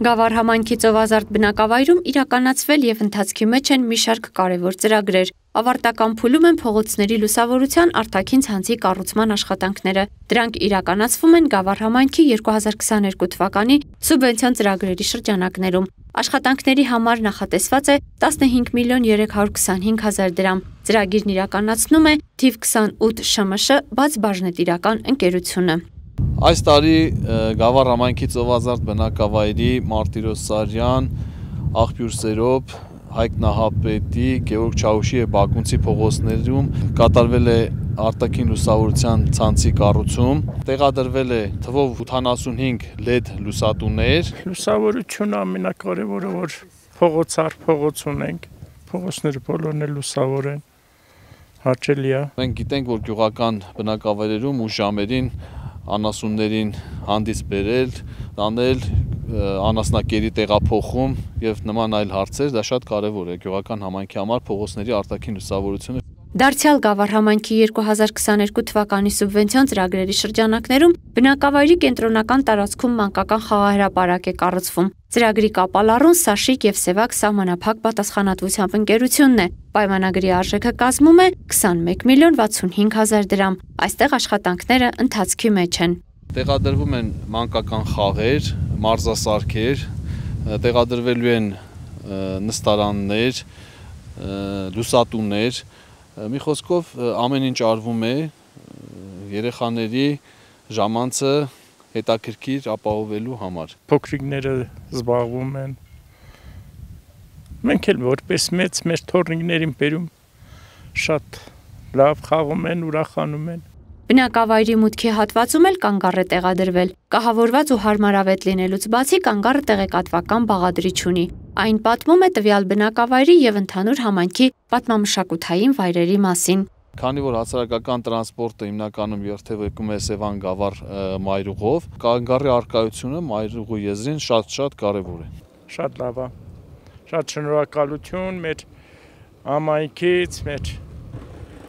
Գավառ համայնքի ծովազարդ բնակավայրում իրականացվել եւ ընթացքի մեջ են մի շարք կարևոր ծրագրեր։ Ավարտական փուլում են փողոցների լուսավորության արտաքին ցանցի կառուցման աշխատանքները։ Դրանք իրականացվում են Գավառ համայնքի 2022 թվականի սուբվենցիոն ծրագրերի շրջանակներում։ Աշխատանքների համար նախատեսված է 15 միլիոն 325 հազար դրամ։ Ծրագիրն իրականացնում է թիվ 28 ՇՄՇ բաց բաժնետիրական ընկերությունը։ Այս տարի Գավառ համայնքի ծովազարդ բնակավայրի Մարտիրոս Սարյան, Աղբյուր Սերոբ, Հայկ Նահապետի, Գևորգ Չաուշի եւ Բակունցի փողոցներում կատարվել է արտաքին լուսավորության ցանցի կառուցում, տեղադրվել է թվով 85 LED լուսատուներ։ Լուսավորությունը ամենակարևորը, որ փողոց առ փողոց ունենք, փողոցները բոլորն էլ լուսավոր են, հաճելի է։ Մենք գիտենք, որ գյուղական բնակավայրերում ու ժամերին անասուններին հանդիպ բերել, տանել, անասնակերի տեղափոխում եւ նման այլ հարցեր, դա շատ կարեւոր է գյուղական համայնքի համար փողոցների արտաքին լուսավորությունը։ Դարձյալ Գավառ համայնքի 2022 թվականի սուբվենցիոն ծրագրերի շրջանակներում բնակավայրի կենտրոնական տարածքում մանկական խաղահրապարակ է կառուցվում։ Ծրագրի կապալառուն Սաշիկ եւ Սևակ սահմանափակ պատասխանատվությամբ ընկերությունն է։ Պայմանագրի արժեքը կազմում է 21 միլիոն 65 հազար դրամ։ Այստեղ աշխատանքները ընթացքի մեջ են։ Տեղադրվում են մանկական խաղեր, մարզասարքեր, տեղադրվելու են նստարաններ, լուսատուներ։ Մի խոսքով ամեն ինչ արվում է երեխաների ժամանցը հետաքրքիր ապահովելու համար։ Փոքրիկները զբաղվում են։ Մենք էլ որպես մեծ մեր թոռնիկներին բերում շատ լավ խաղում են, ուրախանում են։ Բնակավայրի մուտքի հատվածում էլ կանգառ է տեղադրվել։ Կահավորված ու հարմարավետ լինելուց բացի կանգառը տեղեկատվական բաղադրիչ ունի։ Այն պատմում է տվյալ բնակավայրի եւ ընդհանուր համայնքի պատմամշակութային վայրերի մասին։ Քանի որ հասարակական տրանսպորտը հիմնականում երթևեկում է Սևան-Գավառ մայրուղով, կանգառի առկայությունը մայրուղու եզրին շատ կարևոր է։ Շատ լավ է։ Շատ շնորհակալություն մեր համայնքից, մեր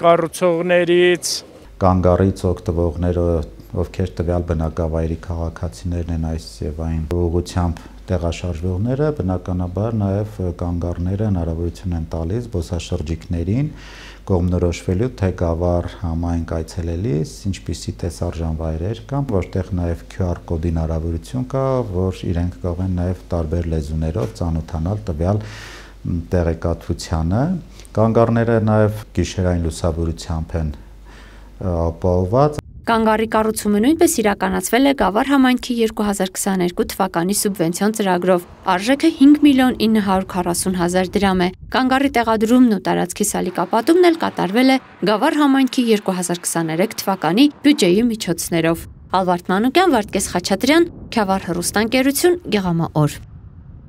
կառուցողներից, կանգառից օգտվողները, ովքեր տվյալ բնակավայրի քաղաքացիներն են այս եւ այն ուղղությամբ տեղաշարժվողները, բնականաբար նաեւ կանգառները հնարավորություն են տալիս զբոսաշրջիկներին կողմնորոշվելու թե Գավառ համայնք այցելելիս ինչպիսի տեսարժան վայրեր կան, որտեղ նաեւ QR կոդի հնարավորություն կա, որ իրենք կարող են նաեւ տարբեր լեզուներով ծանոթանալ տվյալ տեղեկատվությանը։ Կանգառները նաեւ գիշերային լուսավորությամբ են ապահովված։ Կանգառի կառուցումը նույնպես իրականացվել է Գավառ համայնքի 2022 թվականի սուբվենցիոն ծրագրով։ Արժեքը 5 միլիոն 940 հազար դրամ է։ Կանգառի տեղադրումն ու տարածքի սալիկապատումն էլ կատարվել է Գավառ համայնքի 2023 թվականի բյուջեի միջոցներով։ Ալվարդ Մանուկյան, Վարդգես Խաչատրյան, Քյավառ հեռուստաընկերություն, Գեղամաօր։